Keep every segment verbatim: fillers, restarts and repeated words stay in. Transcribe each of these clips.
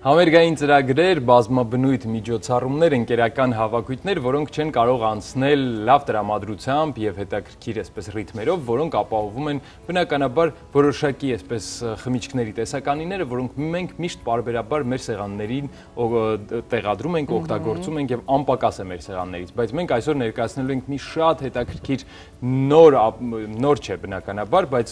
Համերգային ծրագրեր, բազմաբնույթ միջոցառումներ, ընկերական հավաքույթներ, որոնք չեն կարող անցնել լավ տրամադրությամբ եւ հետաքրքիր այսպես ռիթմերով, որոնք ապահովում են բնականաբար որոշակի այսպես խմիչքների տեսականիները, որոնք մենք միշտ պարբերաբար մեր սեղաններին տեղադրում ենք, օգտագործում ենք եւ անպակաս է մեր սեղաններից, բայց մենք այսօր ներկայացնելու ենք մի շատ հետաքրքիր նոր նոր չէ բնականաբար, բայց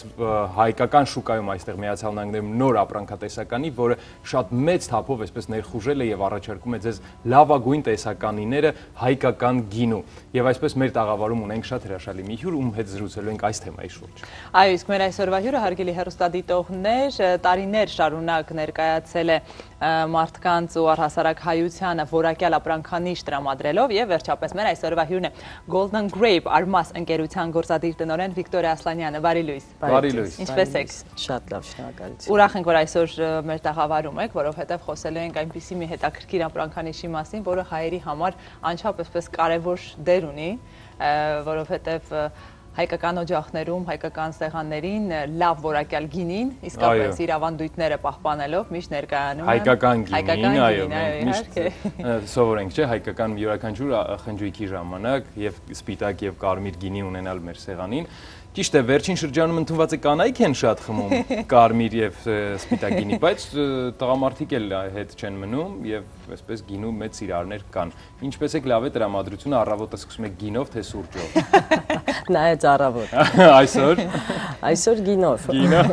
հայկական շուկայում այստեղ Միացյալ Նահանգներում նոր ապրանքատեսականի, որը շատ մեծ թափով այսպես ներխուժել է եւ առաջարկում է ձեզ լավագույն տեսականիները հայկական գինու։ Եվ այսպես մեր տաղավարում ունենք շատ հրաշալի մի հյուր, ում հետ զրուցելու ենք այս թեմայի շուրջ։ Այո, իսկ մեր այսօրվա հյուրը հարգելի հեռուստադիտողներ, տարիներ շարունակ ներկայացել է մարդկանց ու առհասարակ հայությանը որակյալ ապրանքանիշ տրամադրելով եւ վերջապես մեր այսօրվա հյուրն է Golden Grape Armas ընկերության գործադիր տնօրեն Վիկտորիա Ասլանյանը։ Բարի լույս։ Բարի լույս։ Ինչպե՞ս եք։ Շատ լավ, շնորհակալություն։ Ուրախ ենք, որ այսօր մեր տաղավարում եք, որովհետեւ խոսելու ենք այնպիսի մի հետաքրքիր ապրանքանիշի մասին, որը հայերի համար անչափ այսպես կարևոր դեր ունի, որովհետեւ հայկական օջախներում, հայկական սեղաններին լավ որակյալ գինին, իսկապես իր ավանդույթները պահպանելով միշտ ներկայանում են հայկական գինին, այո, միշտ սովորենք, չէ, հայկական յուրաքանչյուր խնջույքի ժամանակ եւ սպիտակ եւ կարմիր գինի ունենալ մեր սեղանին։ Ճիշտ է, վերջին շրջանում ընդունված է կանայք են շատ խմում կարմիր եւ սպիտակ գինի, բայց տղամարդիկ էլ հետ չեն մնում եւ այսպես գինու մեծ սիրարներ կան։ Ինչպես եք լավ է տրամադրությունը, առավոտը սկսում եք գինով թե սուրճով։ Նայեց առավոտ։ Այսօր Այսօր գինով։ Գինով։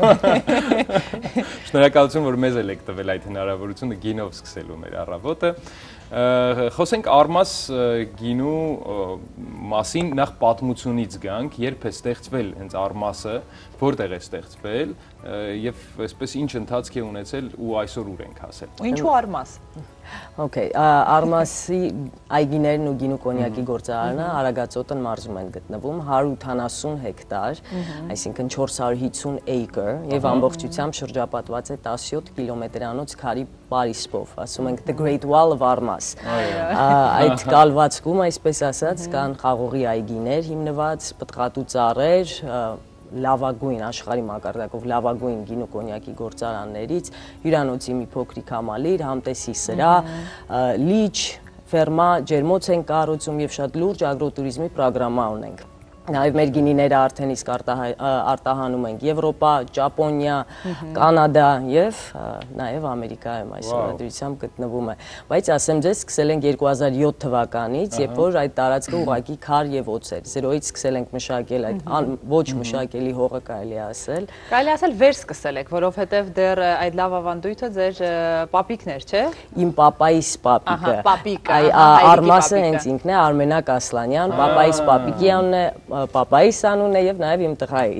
Շնորհակալություն, որ մեզ եք տվել այդ հնարավորությունը գինով սկսելու մեր առավոտը։ Խոսենք Armas գինու մասին, նախ պատմությունից գանք, երբ է ստեղծվել հենց Armas-ը, որտեղ է ստեղծվել եւ այսպես ինչ ընթացք է ունեցել ու այսօր ուր ենք հասել։ Ու ինչու Armas։ Okay, Armas-ի այգիներն ու գինու կոնյակի գործարանը Արագածոտն մարզում են գտնվում, հարյուր ութանասուն հեկտար, այսինքն չորս հարյուր հիսուն acre եւ ամբողջությամբ շրջապատված է տասնյոթ կիլոմետրանոց քարի Պարիսպով, ասում ենք The Great Wall of Armas։ Այդ կալվածքում, այսպես ասած, կան խաղողի այգիներ հիմնված, պտղատու ծառեր, լավագույն աշխարհի մակարդակով լավագույն գինու կոնյակի գործարաններից, հյուրանոցի մի փոքրիկ համալիր, համտեսի սրահ, լիճ, ֆերմա, ջերմոց են կառուցում եւ շատ լուրջ ագրոտուրիզմի ծրագրամա ունենք։ Նաև մեր գինիները արդեն իսկ արտահանում ենք Եվրոպա, Ճապոնիա, Կանադա եւ նաև Ամերիկայում այս ուղղությամբ գտնվում է։ Բայց ասեմ ձեզ, սկսել ենք երկու հազար յոթ թվականից, երբ որ այդ տարածքը ուղղակի քար եւ օձ էր։ Զերոյից սկսել ենք մշակել այդ ոչ մշակելի հողը, կարելի ասել։ Կարելի ասել վեր սկսել եք, որովհետեւ դեռ այդ լավ ավանդույթը ձեր պապիկն էր, չէ։ Իմ պապայիս պապիկը։ Պապիկը։ Արմասը հենց ինքն է, Արմենակ Ասլանյան, պապայիս պապիկի անունն է, պապայիս անունն է եւ նաեւ իմ տղայի։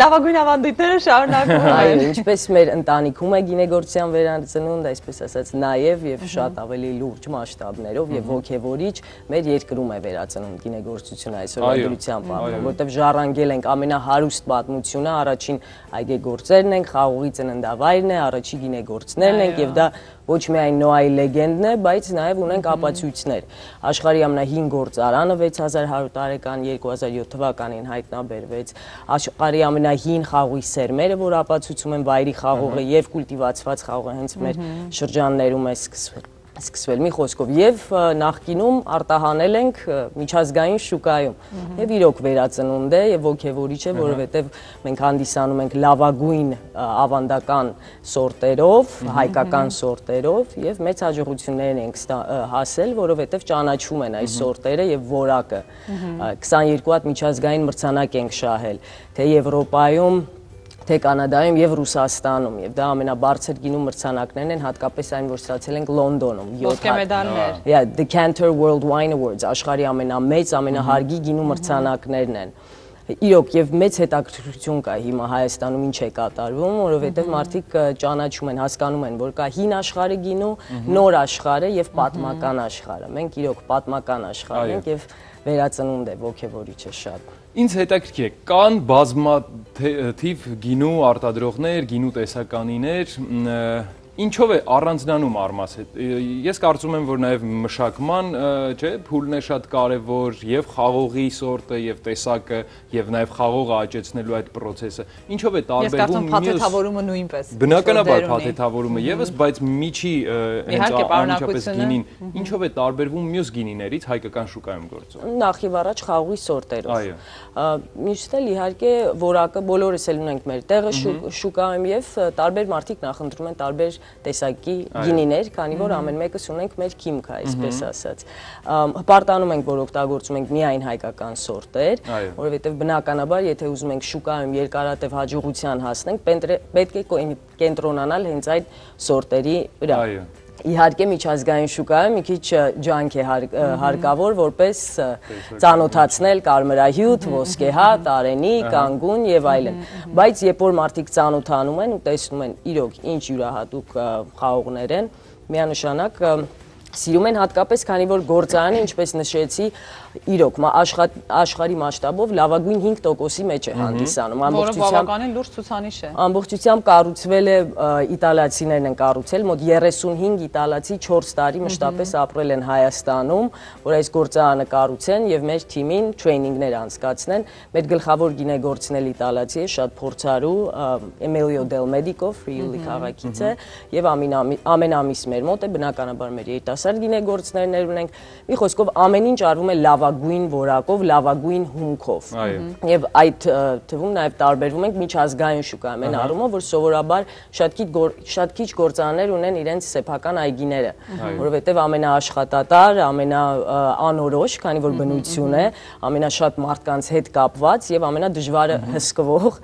Լավագույն ավանդույթները շարունակվում են։ Այո, ինչպես մեր ընտանիքում է գինեգործության վերածնունդ, այսպես ասած նաեւ եւ շատ ավելի լուրջ մասշտաբներով եւ ոգեվորիչ մեր երկրում է վերածնունդ գինեգործությունը այսօր դրությամբ, որովհետեւ ժառանգել ենք ամենահարուստ պատմությունը, առաջին այգեգործերն ենք, խաղողի ծննդավայրն է, առաջի գինեգործներն ենք եւ դա ոչ միայն Նոայի լեգենդն է, բայց նաև ունենք ապացույցներ։ Աշխարհի ամենահին գործարանը վեց հազար հարյուր տարեկան երկու հազար յոթ թվականին հայտնաբերվեց։ Աշխարհի ամենահին խաղողի սերմերը, որ ապացուցում են վայրի խաղողը եւ կուլտիվացված խաղողը հենց մեր շրջաններում է սկսվել։ Սկսվել մի խոսքով եւ նախկինում արտահանել ենք միջազգային շուկայում եւ իրոք վերածնունդ է եւ ոգեվորիչ է, որովհետեւ մենք հանդիսանում ենք լավագույն ավանդական սորտերով, հայկական սորտերով եւ մեծ հաջողություններ ենք հասել, որովհետեւ ճանաչում են այս սորտերը եւ որակը։ քսաներկու հատ միջազգային մրցանակ ենք շահել, թե Եվրոպայում, թե Կանադայում եւ Ռուսաստանում եւ դա ամենաբարձր գինու մրցանակներն են, հատկապես այն, որ ստացել ենք Լոնդոնում ոսկե մեդալներ։ Yeah, the Cantor World Wine Awards, աշխարհի ամենամեծ, ամենահարգի գինու մրցանակներն են։ Իրոք եւ մեծ հետաքրքրություն կա հիմա Հայաստանում ինչ է կատարվում, որովհետեւ մարդիկ ճանաչում են, հասկանում են, որ կա հին աշխարհի գինու, նոր աշխարհը եւ պատմական աշխարհը։ Մենք իրոք պատմական աշխարհ ենք եւ վերածնունդ է, ոգեվորիչ է շատ։ Ինձ հետաքրքիր է, կան բազմաթիվ գինու արտադրողներ, գինու տեսականիներ, Ինչով է առանձնանում Արմասը։ Ես կարծում եմ, որ նաև մշակման, չէ, փուլն է շատ կարևոր, եւ խաղողի սորտը, եւ տեսակը, եւ նաև խաղողը աճեցնելու այդ process-ը։ Ինչով է տարբերվում մյուս։ Ես կարծում եմ փաթեթավորումը նույնպես։ Բնականաբար փաթեթավորումը եւս, բայց միջի հենց անմիջապես գինին, ինչով է տարբերվում մյուս գինիներից հայկական շուկայում գործող։ Նախ եւ առաջ խաղողի սորտերով։ Այո։ Մյուսն էլ իհարկե որակը բոլորս էլ ունենք մեր տեղը շուկայում եւ տարբեր մարդիկ նախընտրում են տարբեր տեսակի գինիներ, քանի որ ամեն մեկս ունենք մեր քիմքը, այսպես ասած։ Հպարտանում ենք, որ օգտագործում ենք միայն հայկական սորտեր, որովհետեւ բնականաբար, եթե ուզում ենք շուկայում երկարատև հաջողության հասնենք, պետք է կենտրոնանալ հենց այդ սորտերի վրա։ Իհարկե միջազգային շուկայում մի քիչ ջանք է հարկավոր, որպես ծանոթացնել կարմրահյութ, ոսկեհատ, արենի, կանգուն եւ այլն։ Բայց երբ որ մարդիկ ծանոթանում են ու տեսնում են իրոք ինչ յուրահատուկ խաղողներ են, միանշանակ սիրում են հատկապես, քանի որ գործարանը, ինչպես նշեցի, իրոք աշխարհի մասշտաբով լավագույն հինգ տոկոսի մեջ է հանդիսանում։ Որը բավականին լուրջ ցուցանիշ է։ Ամբողջությամբ կառուցվել է, իտալացիներն են կառուցել, մոտ երեսունհինգ իտալացի չորս տարի մշտապես ապրել են Հայաստանում, որ այս գործարանը կառուցեն եւ մեր թիմին տրեյնինգներ անցկացնեն։ Մեր գլխավոր գինեգործն էլ իտալացի է, շատ փորձառու, Emilio Del Medico, Friuli քաղաքից է եւ ամեն ամիս մեր մոտ է, բնականաբար մեր երիտասարդ գինեգործներներ ունենք։ Մի խոսքով ամեն ինչ արվում է լավագույն որակով, լավագույն հումքով։ Եվ այդ թվում նաև տարբերվում ենք միջազգային շուկայում, այն առումով, որ սովորաբար շատ քիչ գործարաններ ունեն իրենց սեփական այգիները, որովհետև ամենաաշխատատար, ամենաանորոշ, քանի որ բնություն է, ամենաշատ մարդկանց հետ կապված եւ ամենադժվարը հսկվող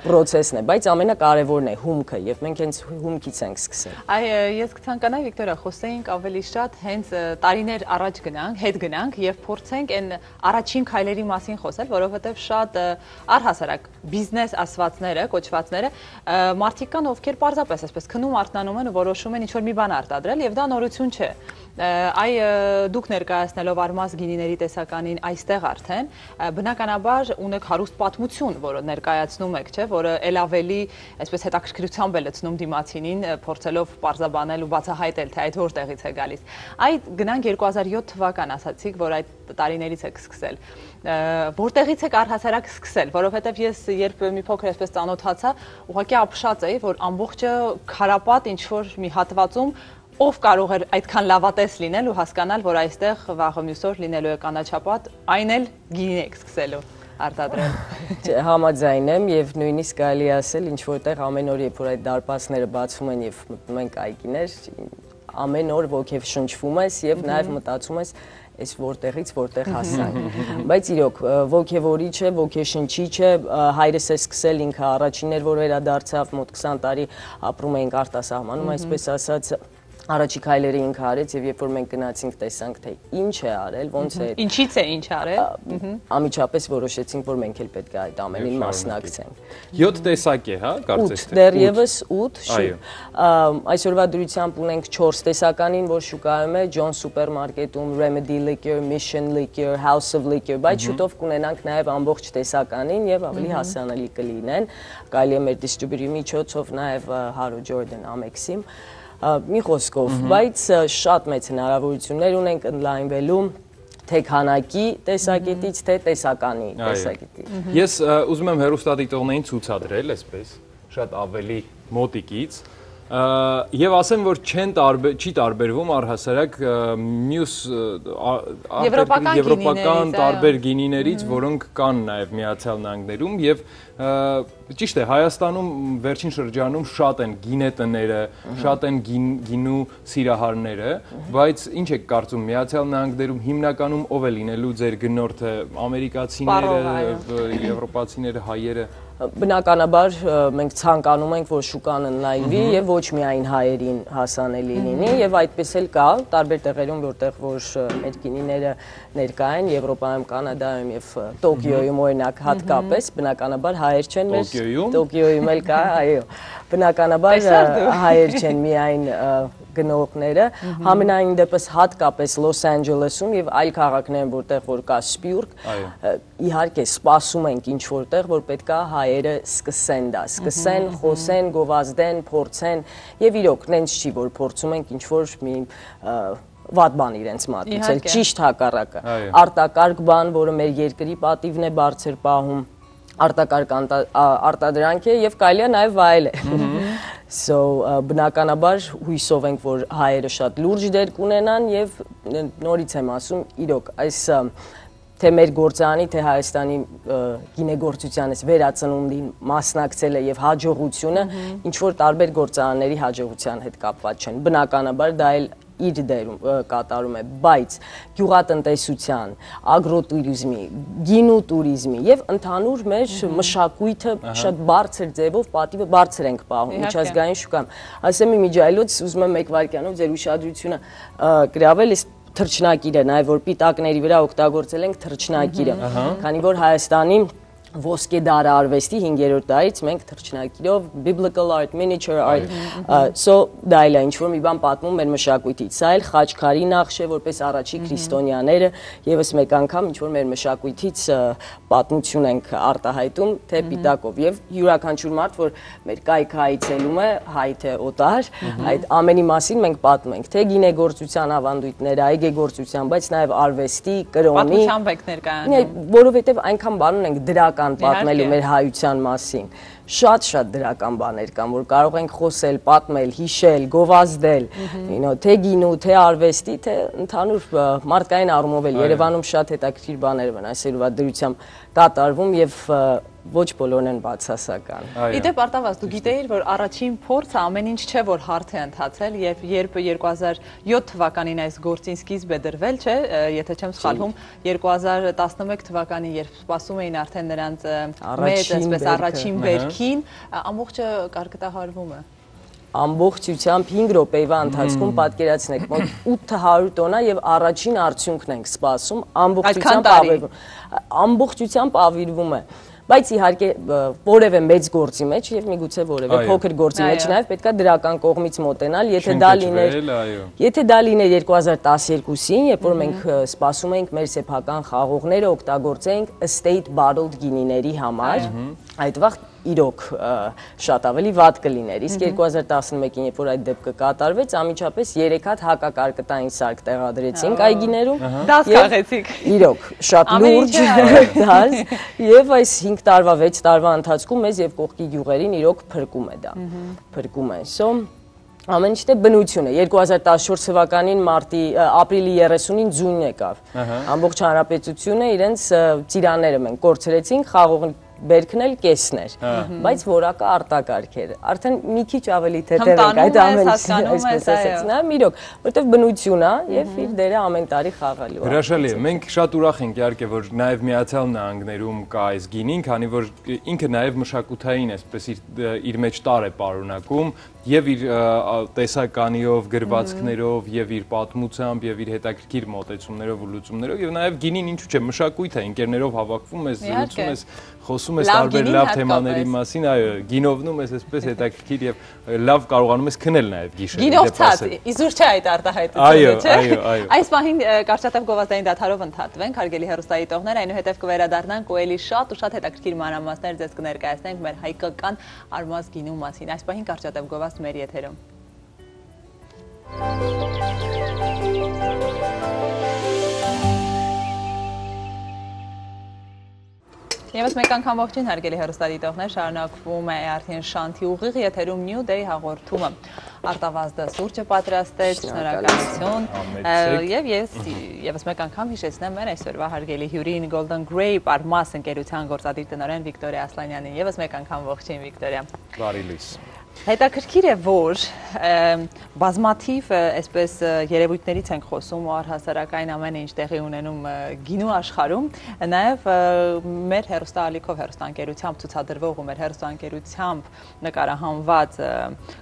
process-ն է, բայց ամենակարևորն է հումքը եւ մենք հենց հումքից ենք սկսել։ Այ ես կցանկանայի Վիկտորիա, խոսեինք ավելի շատ հենց տարիներ առաջ գնանք, հետ գնանք եւ փորձենք այն առաջին քայլերի մասին խոսել, որովհետեւ շատ առհասարակ բիզնես ասվածները, կոչվածները մարդիկ կան, ովքեր պարզապես այսպես քնում արթնանում են ու որոշում են ինչ-որ մի բան արտադրել եւ դա նորություն չէ։ Այ դուք ներկայացնելով Արմաս գինիների տեսականին այստեղ արդեն բնականաբար ունեք հարուստ պատմություն, որը ներկայացնում եք, չէ, որը ել ավելի այսպես հետաքրքրությամբ է լցնում դիմացինին, փորձելով պարզաբանել ու բացահայտել, թե այդ որտեղից է գալիս։ Այդ գնանք երկու հազար յոթ թվական ասացիք, որ այդ տարիներից եք սկսել։ Որտեղից եք առհասարակ սկսել, որովհետև ես երբ մի փոքր այսպես ծանոթացա, ուղղակի ապշած էի, որ ամբողջը քարապատ ինչ որ մի հատվածում ով կարող էր այդքան լավատես լինել ու հասկանալ, որ այստեղ վաղը մյուս օր լինելու է կանաչապատ, այն էլ գինի եք սկսելու արտադրել։ Համաձայն եմ եւ նույնիսկ կարելի ասել, ինչ որտեղ ամեն օր երբ որ այդ դարպասները բացվում են եւ մտնում են այգիներ, ամեն օր ոգեվ շնչվում ես եւ նաեւ մտածում ես այս որտեղից որտեղ հասանք։ Բայց իրոք ոգևորիչ է, ոգեշնչիչ է, հայրս է սկսել ինքը առաջինն էր, որ վերադարձավ, մոտ քսան տարի ապրում էինք արտասահմանում, այսպես ասած առաջի քայլերը ինքը արեց եւ երբ որ մենք գնացինք տեսանք թե ինչ է արել, ոնց է։ Ինչից է ինչ արել։ Անմիջապես որոշեցինք, որ մենք էլ պետք է այդ ամենին մասնակցենք։ յոթ տեսակ է, հա, կարծես թե։ Դեռևս ութ, այսօրվա դրությամբ ունենք չորս տեսականին, որ շուկայում է John Supermarket-ում, Remedy Liquor, Mission Liquor, House of Liquor, բայց շուտով կունենանք նաեւ ամբողջ տեսականին եւ ավելի հասանելի կլինեն։ Կարելի է մեր դիստրիբյուտորի միջոցով նաեւ Haro Jordan Amex-ին մի խոսքով, բայց շատ մեծ հնարավորություններ ունենք ընդլայնվելու թե քանակի տեսակետից, թե տեսականի տեսակետից։ Ես ուզում եմ հեռուստադիտողներին ցուցադրել այսպես, շատ ավելի մոտիկից, եւ ասեմ, որ չեն տարբեր, չի տարբերվում առհասարակ մյուս եվրոպական տարբեր գինիներից, որոնք կան նաեւ Միացյալ Նահանգներում եւ ճիշտ է, Հայաստանում վերջին շրջանում շատ են գինետները, շատ են գինու սիրահարները, բայց ինչ եք կարծում, Միացյալ Նահանգներում հիմնականում ով է լինելու ձեր գնորդը, ամերիկացիները, եվրոպացիները, հայերը։ Բնականաբար մենք ցանկանում ենք, որ շուկան ընդլայնվի եւ ոչ միայն հայերին հասանելի լինի եւ այդպես էլ կա տարբեր տեղերում, որտեղ որ մեր գինիները ներկա են Եվրոպայում, Կանադայում եւ Տոկիոյում օրինակ հատկապես, բնականաբար հայեր չեն մեր Տոկիոյում էլ կա, այո։ Բնականաբար հայեր չեն միայն գնողները, համենայն դեպս հատկապես Լոս Անջելեսում եւ այլ քաղաքներում, որտեղ որ կա սպյուրք, իհարկե սպասում ենք ինչ որտեղ, որ պետքա հայերը սկսեն դա, սկսեն, խոսեն, գովազդեն, փորձեն եւ իրոք նենց չի, որ փորձում ենք ինչ որ մի վատ բան իրենց մատուցել, ճիշտ հակառակը, արտակարգ բան, որը մեր երկրի պատիվն է բարձր պահում, արտակարգ արտադրանք է եւ կարելի է նաեւ վայել է։ So բնականաբար հույսով ենք, որ հայերը շատ լուրջ դեր կունենան եւ նորից եմ ասում, իրոք այս թե մեր գործարանի, թե Հայաստանի գինեգործության վերածնունդին մասնակցելը եւ հաջողությունը ինչ որ տարբեր գործարանների հաջողության հետ կապված չեն։ Բնականաբար դա էլ իր դերում կատարում է, բայց գյուղատնտեսության, ագրոտուրիզմի, գինու տուրիզմի եւ ընդհանուր մեր մշակույթը շատ բարձր ձևով պատիվը բարձր ենք պահում միջազգային շուկայում։ Ասեմ մի միջայլոց, ուզում եմ մեկ վայրկյանով ձեր ուշադրությունը գրավել այս թռչնակիրը, նաեւ որ պիտակների վրա օգտագործել ենք թռչնակիրը, քանի որ Հայաստանի ոսկե դարը արվեստի հինգերորդ դարից մենք թռչնակիրով biblical art, miniature art, so դա էլ է ինչ որ մի բան պատմում մեր մշակույթից, սա էլ խաչքարի նախշ է, որպես առաջի քրիստոնյաները եւս մեկ անգամ ինչ որ մեր մշակույթից պատմություն ենք արտահայտում թե պիտակով եւ յուրաքանչյուր մարդ, որ մեր կայքը այցելում է, հայ թե օտար, այդ ամենի մասին մենք պատմում ենք, թե գինեգործության ավանդույթները, այգեգործության, բայց նաեւ արվեստի, կրոնի, պատմությամբ եք ներկայանում, որովհետեւ այնքան բան ունենք դրական պատմելու մեր հայության մասին, շատ-շատ դրական բաներ կան, որ կարող ենք խոսել, պատմել, հիշել, գովազդել, թե գինու, թե արվեստի, թե ընդհանուր մարդկային առումով էլ Երևանում շատ հետաքրքիր բաներ են այսօրվա դրությամբ կատարվում եւ ոչ բոլորն են բացասական։ Իդեպ Արտավազ, դու գիտեիր, որ առաջին փորձը ամեն ինչ չէ, որ հարթ է ընթացել եւ երբ երկու հազար յոթ թվականին այս գործին սկիզբ է դրվել, չէ, եթե չեմ սխալվում, երկու հազար տասնմեկ թվականին, երբ սպասում էին արդեն նրանց մեծ, այսպես առաջին վերքին, ամբողջը կարկտահարվում է։ Ամբողջությամբ հինգ րոպեվա ընթացքում պատկերացնեք մոտ ութ հարյուր տոննա եւ առաջին արդյունքն ենք սպասում, ամբողջությամբ ավիրվում, ամբողջությամբ ավիրվում է։ Բայց իհարկե որևէ մեծ գործի մեջ եւ միգուցե որևէ փոքր գործի մեջ նաեւ պետքա դրական կողմից մոտենալ, եթե դա լիներ, եթե դա լիներ երկու հազար տասներկուսին, երբ որ մենք սպասում էինք մեր սեփական խաղողները օգտագործենք estate bottled գինիների համար, այդ վաղ իրոք շատ ավելի վատ կլիներ, իսկ երկու հազար տասնմեկին, երբ որ այդ դեպքը կատարվեց, անմիջապես երեք հատ հակակարկտային սարք տեղադրեցինք այգիներում, դաս քաղեցիք, իրոք շատ լուրջ դաս, եւ այս հինգ տարվա, վեց տարվա ընթացքում մեզ եւ կողքի գյուղերին իրոք փրկում է դա, փրկում է, so ամեն ինչ դե բնություն է, երկու հազար տասնչորս թվականին մարտի ապրիլի երեսունին ձյուն եկավ, ամբողջ հանրապետությունը իրենց ծիրանները մենք կորցրեցինք, խաղող բերքն էլ կեսն էր, բայց որակը արտակարգ էր, արդեն մի քիչ ավելի թեթև ենք այդ ամեն ինչը, այսպես ասած, նայեմ իրոք, որտեվ բնություն է եւ իր դերը ամեն տարի խաղալու է։ Հրաշալի է, մենք շատ ուրախ ենք իհարկե, որ նաեւ Միացյալ Նահանգներում կա այս գինին, քանի որ ինքը նաեւ մշակութային, այսպես իր մեջ տար է պարունակում եւ իր տեսականիով, գրվածքներով եւ իր պատմությամբ եւ իր հետաքրքիր մոտեցումներով ու լուծումներով եւ նաեւ գինին ինչու՞ չէ մշակույթ է, ընկերներով հավաքվում ես, զրուցում ես, խոսում ես տարբեր լավ թեմաների մասին, այո, գինովնում ես այսպես հետաքրքիր եւ լավ կարողանում ես քնել նաեւ գիշերը։ Գինով ցած, իզուր չէ այդ արտահայտությունը, չէ։ Այո, այո, այո։ Այս պահին կարճատև գովազդային դադարով ընդհատվենք, հարգելի հեռուստադիտողներ, այնուհետև կվերադառնանք ու էլի շատ ու շատ հետաքրքիր մանրամասներ ձեզ կներկայացնենք մեր հայկական արմազ գինու մասին։ Այս պահին կարճատև գովազդ մեր եթերում։ Եվս մեկ անգամ ողջույն հարգելի հեռուստադիտողներ, շարունակվում է արդեն Շանթի ուղիղ եթերում New Day հաղորդումը։ Արտավազդը սուրճը պատրաստեց, շնորհակալություն։ Եվ ես եւս մեկ անգամ հիշեցնեմ մեր այսօրվա հարգելի հյուրին Golden Grape Armas ընկերության գործադիր տնօրեն Վիկտորիա Ասլանյանին։ Եվս մեկ անգամ ողջույն Վիկտորիա։ Բարի լույս։ Հետաքրքիր է, որ բազմաթիվ այսպես երևույթներից ենք խոսում ու առհասարակային ամեն ինչ տեղի ունենում գինու աշխարհում, նաև մեր հեռուստաալիքով հեռուստաընկերությամբ ցուցադրվող ու մեր հեռուստաընկերությամբ նկարահանված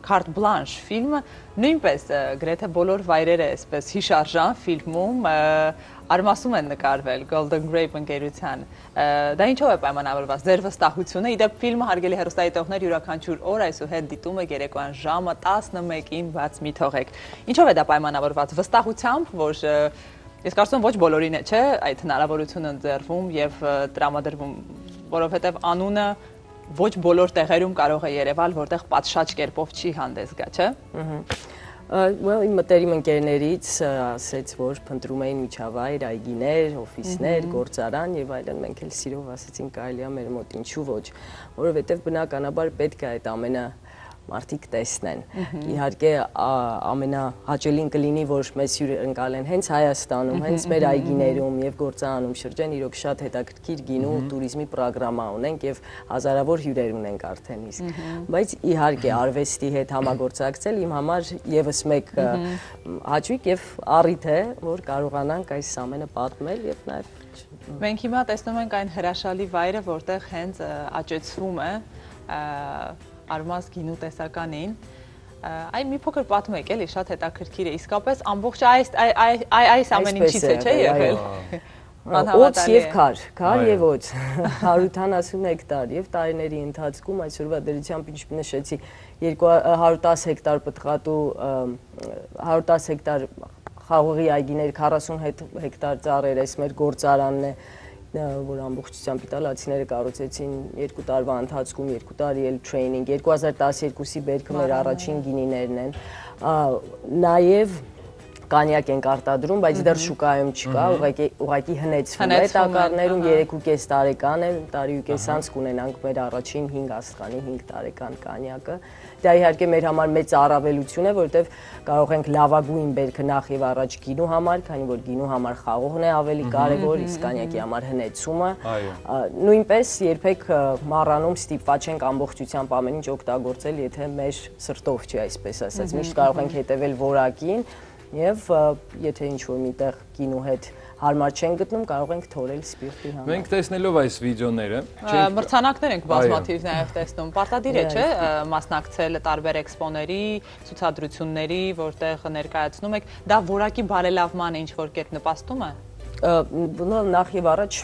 Carte Blanche ֆիլմը նույնպես գրեթե բոլոր վայրերը այսպես հիշարժան ֆիլմում արմասում են նկարվել Golden Grape ընկերության։ Դա ինչով է պայմանավորված ձեր վստահությունը։ Իդեպ ֆիլմը հարգելի հեռուստադիտողներ յուրաքանչյուր օր այսուհետ դիտում է երեկոյան ժամը տասնմեկին բաց մի թողեք։ Ինչով է դա պայմանավորված վստահությամբ, որ ես կարծում եմ ոչ բոլորին է, չէ, այդ հնարավորությունը ընձեռվում եւ տրամադրվում, որովհետեւ անունը ոչ բոլոր տեղերում կարող է երևալ, որտեղ պատշաճ կերպով չի հանդես գա, չէ։ Well, իմ մտերիմ ընկերներից ասեց, որ փնտրում էին միջավայր, այգիներ, օֆիսներ, գործարան եւ այլն, մենք էլ սիրով ասեցինք կարելի է մեր մոտ ինչու ոչ, որովհետեւ բնականաբար պետք է այդ ամենը մարդիկ տեսնեն։ Իհարկե ամենահաճելին կլինի, որ մեզ հյուրընկալեն հենց Հայաստանում, հենց մեր այգիներում եւ գործարանում շրջեն, իրոք շատ հետաքրքիր գինու տուրիզմի ծրագրամա ունենք եւ հազարավոր հյուրեր ունենք արդեն իսկ։ Բայց իհարկե արվեստի հետ համագործակցել իմ համար եւս մեկ հաճույք եւ առիթ է, որ կարողանանք այս ամենը պատմել եւ նաեւ Մենք հիմա տեսնում ենք այն հրաշալի վայրը, որտեղ հենց աճեցվում է Արմաս գինու տեսականին, այ մի փոքր պատմեք էլի, շատ հետաքրքիր է, իսկապես ամբողջ այս ամեն ինչից է, չէ՞ եղել։ Օծ եւ քար, քար եւ օծ, հարյուր ութանասուն հեկտար եւ տարիների ընթացքում այսօրվա դրությամբ ինչ նշեցի, հարյուր տասը հեկտար պտղատու, հարյուր տասը հեկտար խաղողի այգիներ, քառասուն հեկտար ծառեր, այս մեր գործարանն է, որ ամբողջությամբ իտալացիները կառուցեցին երկու տարվա ընթացքում, երկու տարի էլ տրեյնինգ, երկու հազար տասներկուսի բերքը մեր առաջին գինիներն են, նաև կանյակ ենք արտադրում, բայց դեռ շուկայում չկա, ուղղակի հնեցվում է տակառներում, երեք ու կես տարեկան է, տարի ու կես անց կունենանք մեր առաջին հինգ աստղանի հինգ տարեկան կանյակը։ Դա իհարկե մեր համար մեծ առավելություն է, որովհետև կարող ենք լավագույն բերքը նախ եւ առաջ գինու համար, քանի որ գինու համար խաղողն է ավելի կարևոր, իսկ կանյակի համար հնեցումը։ Նույնպես երբեք մառանում ստիպված չենք ամբողջությամբ ամեն ինչ օգտագործել, եթե մեր սրտով չի, այսպես ասած, միշտ կարող ենք հետևել որակին եւ եթե ինչ-որ միտեղ գինու հետ հարմար չեն գտնում, կարող ենք թորել սպիրտի համար։ Մենք տեսնելով այս վիդեոները, մրցանակներ ենք բազմաթիվ նաև տեսնում։ Պարտադիր է, չէ՞, մասնակցել տարբեր էքսպոների, ցուցադրությունների, որտեղ ներկայացնում եք, դա որակի բարելավման է ինչ-որ կերպ նպաստում է։ Նախ եւ առաջ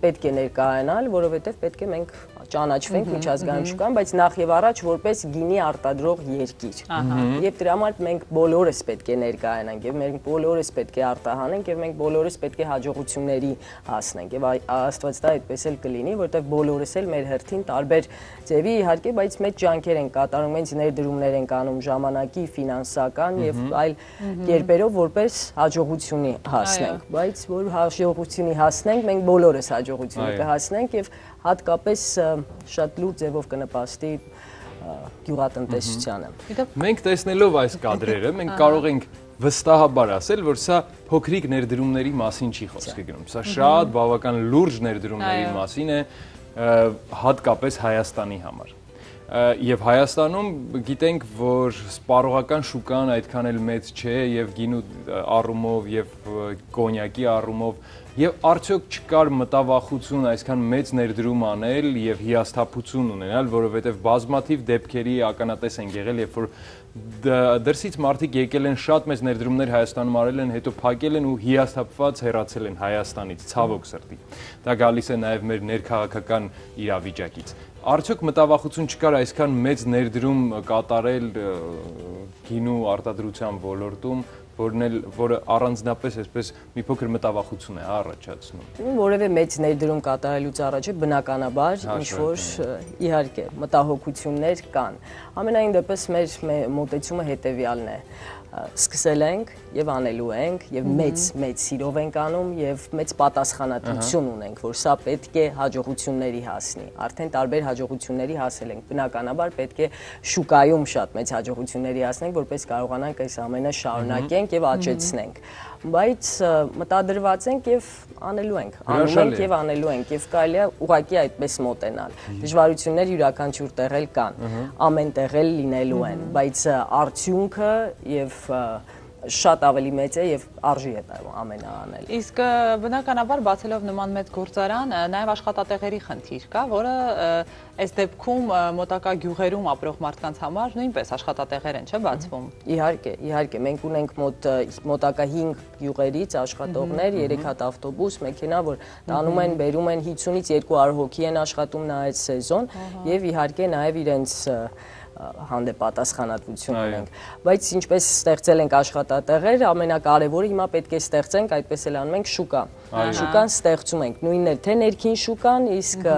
պետք է ներկայանալ, որովհետեւ պետք է մենք ճանաչվենք միջազգային շուկայում, բայց նախ եւ առաջ որպես գինի արտադրող երկիր։ Եվ դրա համար մենք բոլորս պետք է ներկայանանք եւ մենք բոլորս պետք է արտահանենք եւ մենք բոլորս պետք է հաջողությունների հասնենք եւ Աստված դա այդպես էլ կլինի, որովհետեւ բոլորս էլ մեր հերթին տարբեր ձևի իհարկե, բայց մեծ ջանքեր են կատարում, հենց ներդրումներ են անում ժամանակի, ֆինանսական եւ այլ կերպերով, որպես հաջողությունի հասնենք, բայց որ հաջողությունի հասնենք, մենք բոլորս հաջողությունի կհասնենք եւ հատկապես շատ լուրջ ձևով կնպաստի գյուղատնտեսությանը։ Մենք տեսնելով այս կադրերը, մենք կարող ենք վստահաբար ասել, որ սա փոքրիկ ներդրումների մասին չի խոսքը գնում։ Սա շատ բավական լուրջ ներդրումների մասին է, հատկապես Հայաստանի համար։ Եվ Հայաստանում գիտենք, որ սպառողական շուկան այդքան էլ մեծ չէ եւ գինու առումով եւ կոնյակի առումով եւ արդյոք չկար մտավախություն այսքան մեծ ներդրում անել եւ հիասթափություն ունենալ, որովհետեւ բազմաթիվ դեպքերի ականատես են եղել, երբ որ դրսից մարդիկ եկել են շատ մեծ ներդրումներ Հայաստանում արել են, հետո փակել են ու հիասթափված հեռացել են Հայաստանից, ցավոք սրտի։ Դա գալիս է նաեւ մեր ներքաղաքական իրավիճակից։ Արդյոք մտավախություն չկար այսքան մեծ ներդրում կատարել գինու արտադրության ոլորտում, որը առանձնապես այսպես մի փոքր մտավախություն է առաջացնում։ Որևէ մեծ ներդրում կատարելուց առաջ բնականաբար ինչ-որ իհարկե մտահոգություններ կան։ Ամենայն դեպս մեր մոտեցումը հետևյալն է։ Սկսել ենք եւ անելու ենք եւ մեծ մեծ սիրով ենք անում եւ մեծ պատասխանատվություն ունենք, որ սա պետք է հաջողությունների հասնի։ Արդեն տարբեր հաջողությունների հասել ենք։ Բնականաբար պետք է շուկայում շատ մեծ հաջողությունների հասնենք, որպես կարողանանք այս ամենը շարունակենք եւ աճեցնենք։ Բայց մտադրված ենք եւ անելու ենք, անում ենք եւ անելու ենք եւ կարելի է ուղղակի այդպես մոտենալ։ Դժվարություններ յուրաքանչյուր տեղ էլ կան, ամեն տեղ էլ լինելու են, բայց արդյունքը եւ շատ ավելի մեծ է եւ արժի է ամենը անել։ Իսկ բնականաբար բացելով նման մեծ գործարան, նաեւ աշխատատեղերի խնդիր կա, որը այս դեպքում մոտակա գյուղերում ապրող մարդկանց համար նույնպես աշխատատեղեր են, չէ՞, բացվում։ Իհարկե, իհարկե, մենք ունենք մոտ մոտակա հինգ գյուղերից աշխատողներ, երեք հատ ավտոբուս, մեքենա, որ տանում են, բերում են հինգից երկու հարյուր հոգի են աշխատում նա այդ սեզոն եւ իհարկե նաեւ իրենց հանդեպ պատասխանատվություն ունենք, բայց ինչպես ստեղծել ենք աշխատատեղեր, ամենակարևորը հիմա պետք է ստեղծենք, այդպես էլ անում ենք շուկա։ Շուկան ստեղծում ենք, նույնն է թե ներքին շուկան, իսկ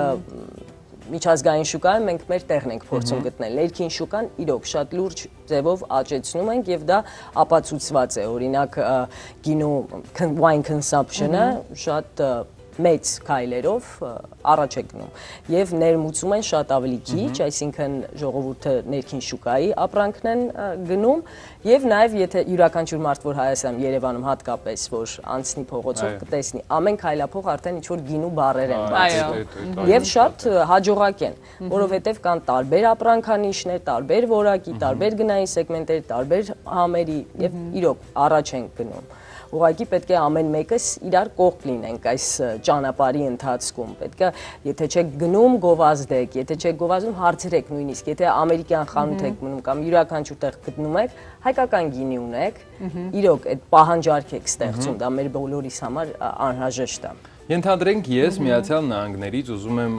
միջազգային շուկայում մենք մեր տեղն ենք փորձում գտնել։ Ներքին շուկան իրոք շատ լուրջ ձևով աճեցնում ենք եւ դա ապացուցված է, օրինակ գինու wine consumption-ը շատ մեծ քայլերով առաջ է գնում եւ ներմուծում են շատ ավելի քիչ, այսինքն ժողովուրդը ներքին շուկայի ապրանքն են գնում եւ նաեւ եթե յուրաքանչյուր մարդ որ Հայաստանում Երևանում հատկապես որ անցնի փողոցով կտեսնի ամեն քայլափող արդեն ինչ որ գինու բառեր են բացվում եւ շատ հաջողակ են, որովհետեւ կան տարբեր ապրանքանիշներ, տարբեր որակի, տարբեր գնային սեգմենտերի, տարբեր համերի եւ իրոք առաջ են գնում։ Ուղղակի պետք է ամեն մեկս իրար կողք լինենք այս ճանապարհի ընթացքում։ Պետք է, եթե չեք գնում, գովազդեք, եթե չեք գովազդում, հարցրեք նույնիսկ, եթե ամերիկյան խանութ եք մնում կամ յուրաքանչյուր տեղ գտնում եք, հայկական գինի ունեք, իրոք այդ պահանջարկ եք ստեղծում, դա մեր բոլորիս համար անհրաժեշտ է։ Ենթադրենք ես Միացյալ Նահանգներից ուզում եմ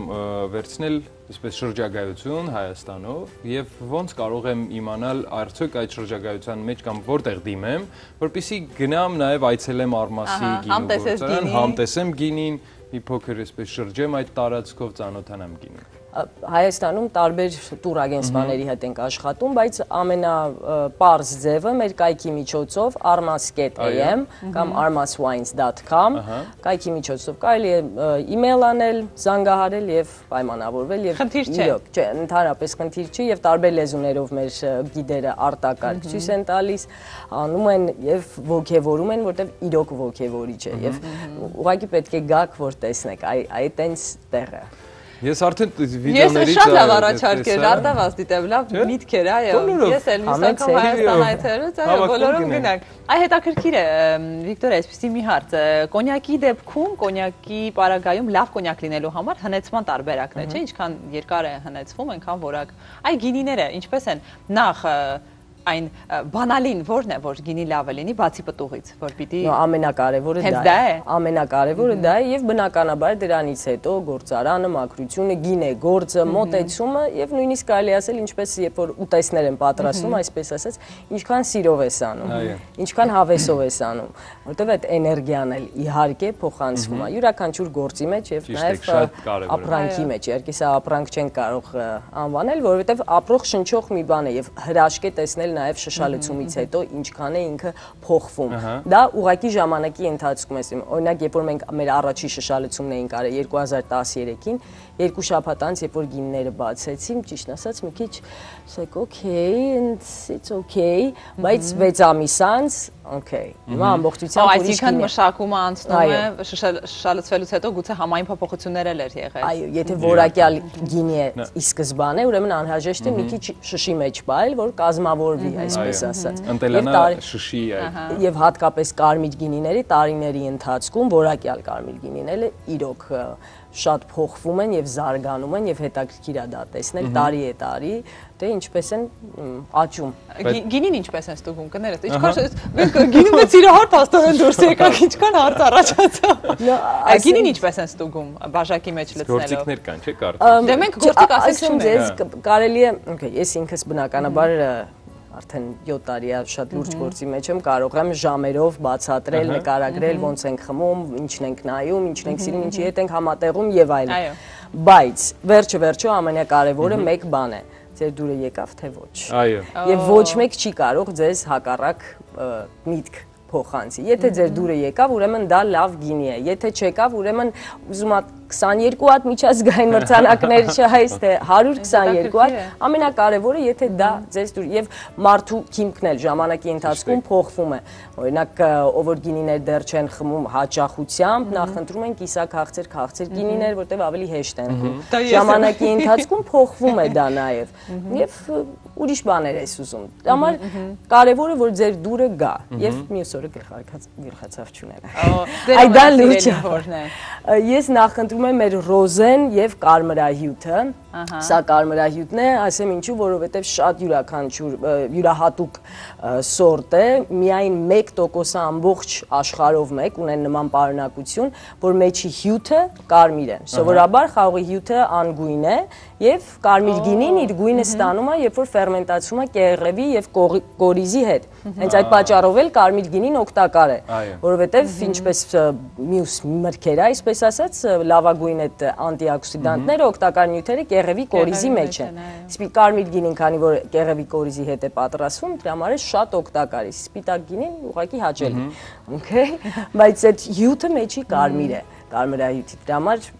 վերցնել այսպես շրջագայություն Հայաստանով եւ ոնց կարող եմ իմանալ արդյոք այդ շրջագայության մեջ կամ որտեղ դիմեմ, որպեսզի գնամ նաեւ այցելեմ Արմասի գինու գործարան, համտեսեմ գինին, մի փոքր այսպես շրջեմ այդ տարածքով, ծանոթանամ գինին։ Հայաստանում տարբեր տուրագենստների հետ ենք աշխատում, բայց ամենապարզ ձևը մեր կայքի միջոցով armas dot a m կամ armas wines dot com կայքի միջոցով կարելի է email անել, զանգահարել եւ պայմանավորվել եւ իրոք, չէ, ընդհանրապես խնդիր չի եւ տարբեր լեզուներով մեր գիդերը արտակարգ ցույց են տալիս, անում են եւ ոգեվորում են, որտեւ իրոք ոգեվորիչ է եւ ուղղակի պետք է գաք որ տեսնեք այդ այնց տեղը։ Ես արդեն վիդեոներից Ես շատ լավ առաջարկեր, արտավաս դիտեմ, լավ միտքեր, այո։ Ես էլ մյուս անգամ Հայաստան այցելուց, այո, բոլորում գնանք։ Այ հետաքրքիր է, Վիկտոր, այսպեսի մի հարց, կոնյակի դեպքում, կոնյակի պարագայում լավ կոնյակ լինելու համար հնեցման տարբերակն է, չէ՞, ինչքան երկար է հնեցվում, այնքան որակ։ Այ գինիները ինչպես են, նախ այն բանալին որն է, որ գինի լավը լինի, բացի պտուղից, որ պիտի ամենակարևորը դա է։ Ամենակարևորը դա է եւ բնականաբար դրանից հետո գործարանը, մաքրությունը, գինե, գործը, մոտեցումը եւ նույնիսկ կարելի ասել ինչպես երբ որ ուտեսներ են պատրաստում, այսպես ասած, ինչքան սիրով ես անում, ինչքան հավեսով ես անում, որտեւ այդ էներգիան էլ իհարկե փոխանցվում է յուրաքանչյուր գործի մեջ եւ նաեւ ապրանքի մեջ։ Իհարկե սա ապրանք չեն կարող անվանել, որովհետեւ ապրող շնչող մի բան է եւ հրաշք է տեսնել նաև շշալցումից հետո ինչքան է ինքը փոխվում։ Դա ուղղակի ժամանակի ընթացքում է։ Օրինակ, երբ որ մենք մեր առաջի շշալցումն էինք արել երկու հազար տասներեքին, երկու շաբաթ անց, երբ որ գինները բացեցին, ճիշտ ասած, մի քիչ ասեք, okay, and it's okay, բայց վեց ամիս անց, okay։ Հիմա ամբողջությամբ ուրիշ գին է։ Այսինքն մշակումը անցնում է շշալցվելուց հետո գուցե համային փոփոխություններ էլ էր եղել։ Այո, եթե որակյալ գինի է ի սկզբանե, ուրեմն անհրաժեշտ է մի քիչ շշի մեջ բայել, որ կազմավորվի, այսպես ասած։ Ընտելանա շշի այդ։ Եվ հատկապես կարմիր գինիների տարիների ընթացքում որակյալ կարմիր գինիները իրոք շատ փոխվում են եւ զարգանում են եւ հետաքրքիր է դա տեսնել տարի է տարի, թե ինչպես են աճում։ Գինին ինչպես են ստուգում կներես։ Ինչքան մենք գինում ենք իրահարթ հաստորեն դուրս եկանք, ինչքան հարց առաջացավ։ Գինին ինչպես են ստուգում բաժակի մեջ լցնելով։ Գործիքներ կան, չէ՞ կարծում։ Դե մենք գործիք ասենք չունենք։ Կարելի է, okay, ես ինքս բնականաբար արդեն յոթ տարի է շատ լուրջ գործի մեջ եմ, կարող եմ ժամերով բացատրել, նկարագրել, ոնց ենք խմում, ինչն ենք նայում, ինչն ենք սիրում, ինչի հետ ենք համատեղում եւ այլն։ Բայց վերջը վերջո ամենակարևորը մեկ բան է՝ ձեր դուրը եկավ թե ոչ։ Այո։ Եվ ոչ մեկ չի կարող ձեզ հակառակ միտք փոխանցի։ Եթե ձեր դուրը եկավ, ուրեմն դա լավ գինի է։ Եթե չեկավ, ուրեմն ուզում եք քսաներկու հատ միջազգային մրցանակներ չհայց թե հարյուր քսաներկու հատ, ամենակարևորը եթե դա ձեզ դուր եւ մարդու քիմքն էլ ժամանակի ընթացքում փոխվում է։ Օրինակ ով որ գինիներ դեռ չեն խմում հաճախությամբ, նախընտրում են կիսաքաղցեր, քաղցր գինիներ, որտեղ ավելի հեշտ են խմում։ Ժամանակի ընթացքում փոխվում է դա նաեւ։ Եվ ուրիշ բաներ ես ուզում։ Համար կարևորը որ ձեր դուրը գա եւ մյուս օրը գլխացավ չունել։ Այդ դա լուծը որն է։ Ես նախընտրում եմ մեր ռոզեն եւ կարմրահյութը։ Սա կարմրահյութն է, ասեմ ինչու, որովհետեւ շատ յուրաքանչյուր յուրահատուկ սորտ է, միայն մեկ տոկոս ամբողջ աշխարհով մեկ ունեն նման պարունակություն, որ մեջի հյութը կարմիր է։ Սովորաբար խաղողի հյութը անգույն է եւ կարմիր գինին իր գույնը ստանում է, երբ որ ֆերմենտացում է կեղևի եւ կորիզի հետ։ Հենց այդ պատճառով էլ կարմիր գինին օգտակար է, որովհետեւ ինչպես մյուս մրգերը, այսպես ասած, լավագույն այդ անտիօքսիդանտները, օգտակար նյութերը կեղևի կորիզի մեջ են։ Իսկ կարմիր գինին, քանի որ կեղևի կորիզի հետ է պատրաստվում, դրա համար է շատ օգտակար է։ Սպիտակ գինին ուղղակի հաճելի։ Okay, բայց այդ հյութը մեջի կարմիր է, կարմրահյութի։ Դրա համար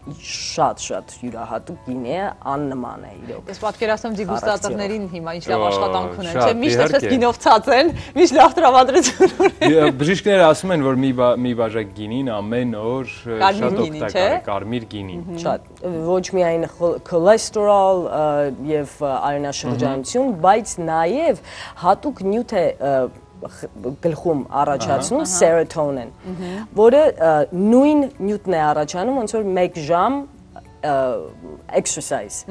շատ-շատ յուրահատուկ գինի է, աննման է իրոք։ Ես պատկերացնում դիգուստատորներին հիմա ինչ լավ աշխատանք ունեն, չէ՞, միշտ այսպես գինով ցած են, միշտ լավ տրամադրություն ունեն։ Բժիշկները ասում են, որ մի բաժակ գինին ամեն օր շատ օգտակար է, կարմիր գինին։ Շատ, ոչ միայն քոլեստերոլ եւ արյունաշրջանություն, բայց նաեւ հատուկ նյութ է գլխում առաջացնում սերոտոնին, որը նույն նյութն է առաջանում, ոնց որ մեկ ժամ exercise։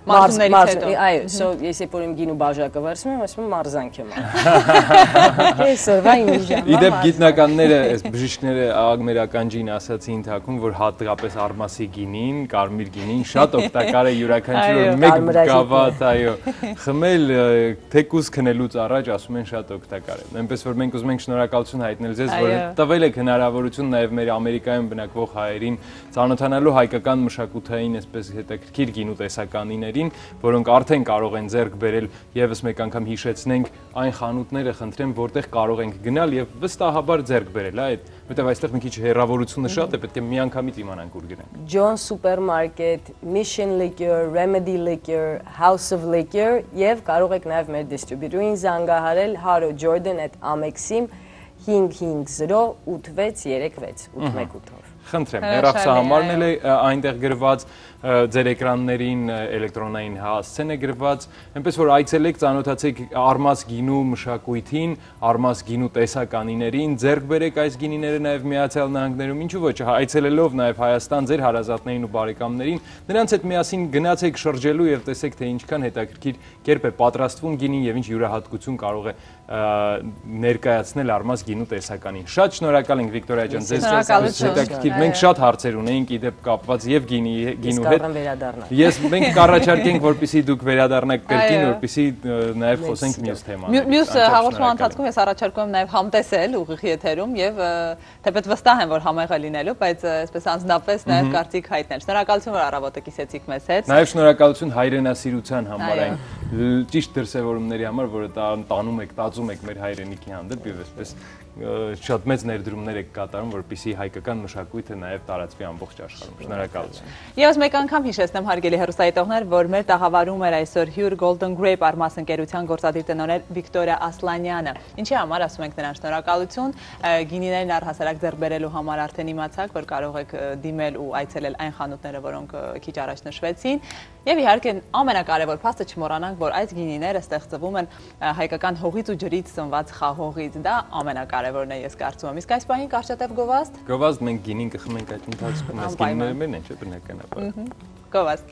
Մարզումներից հետո։ Այո, so ես երբ որ իմ գինու բաժակը վերցնում եմ, ասում եմ մարզանք եմ։ Կեսօրվա իմ ժամ։ Իդեպ գիտնականները, այս բժիշկները աղագմեր ականջին ասացին թակում, որ հատկապես արմասի գինին, կարմիր գինին շատ օգտակար է յուրաքանչյուր մեկ գավաթ, այո, խմել թեկուզ քնելուց առաջ ասում են շատ օգտակար է։ Այնպես որ մենք ուզում ենք շնորհակալություն հայտնել ձեզ, որ տվել եք հնարավորություն նաև մեր Ամերիկայում բնակվող հայերին ծանոթանալու հայկական մշակութային այսպես հետաքրքիր գինու տեսականիներին, որոնք արդեն կարող են ձեռք բերել, եւս մեկ անգամ հիշեցնենք այն խանութները, խնդրեմ, որտեղ կարող ենք գնալ եւ վստահաբար ձեռք բերել, այդ, որտեղ այստեղ մի քիչ հեռավորությունը շատ է, պետք է միանգամից իմանանք ուր գնանք։ John Supermarket, Mission Liquor, Remedy Liquor, House of Liquor եւ կարող եք նաեւ մեր դիստրիբյուտորին զանգահարել Haro Jordan at Amex-ին հինգ հինգ զրո ութ վեց երեք վեց ութ մեկ ութ-ով։ Խնդրեմ, հեռախոսահամարն էլ է այնտեղ գրված, ձեր էկրաններին էլեկտրոնային հասցեն է գրված, այնպես որ այցելեք, ծանոթացեք Արմաս գինու մշակույթին, Արմաս գինու տեսականիներին, ձեռք բերեք այս գինիները նաև Միացյալ Նահանգներում, ինչու ոչ, այցելելով նաև Հայաստան ձեր հարազատներին ու բարեկամներին, նրանց հետ միասին գնացեք շրջելու եւ տեսեք թե ինչքան հետաքրքիր կերպ է պատրաստվում գինին եւ ինչ յուրահատկություն կարող է ներկայացնել Արմաս գինու տեսականին։ Շատ շնորհակալ ենք Վիկտորիա ջան, ձեզ հետաքրքիր, մենք շատ հարցեր ունեինք իդեպ կապված եւ գինի գինու հետ։ Ես մենք կառաջարկենք, որպեսզի դուք վերադառնաք կրկին, որպեսզի նաեւ խոսենք մյուս թեմաներով։ Մյուս հաղորդման ընթացքում ես առաջարկում եմ նաեւ համտեսել ուղիղ եթերում եւ թեպետ վստահ եմ, որ համեղ է լինելու, բայց այսպես անձնապես նաեւ կարծիք հայտնել։ Շնորհակալություն, որ առավոտը կիսեցիք մեզ հետ։ Նաեւ շնորհակալություն հայրենասիրության համար, այն ճիշտ դրսևորումների համար, որը տանում եք, տածում եք մեր հայրենիքի հանդեպ եւ այսպես շատ մեծ ներդրումներ եք կատարում, որպեսզի հայկական մշակույթը նաև տարածվի ամբողջ աշխարհում։ Շնորհակալություն։ Եվս մեկ անգամ հիշեցնեմ հարգելի հեռուստադիտողներ, որ մեր տաղավարում էր այսօր Hür Golden Grape Արմաս ընկերության գործադիր տնօրեն Վիկտորիա Ասլանյանը։ Ինչի համար ասում ենք նրան շնորհակալություն, գինիներն առհասարակ ձեռք բերելու համար արդեն իմացաք, որ կարող եք դիմել ու այցելել այն խանութները, որոնք քիչ առաջ նշվեցին, եւ իհարկե ամենակարևոր փաստը չմոռանանք, որ այս գինիները ստեղծվում են հայկական հողից ու ջրից ծնված խաղողից, դա ամենակարևորն է, ես կարծում եմ։ Իսկ այս պահին կարճատև գովազդ։ Գովազդ մենք գինին կխմենք այդ ընթացքում, այս գինիները մերն են, չէ՞ բնականաբար։ Գովազդ։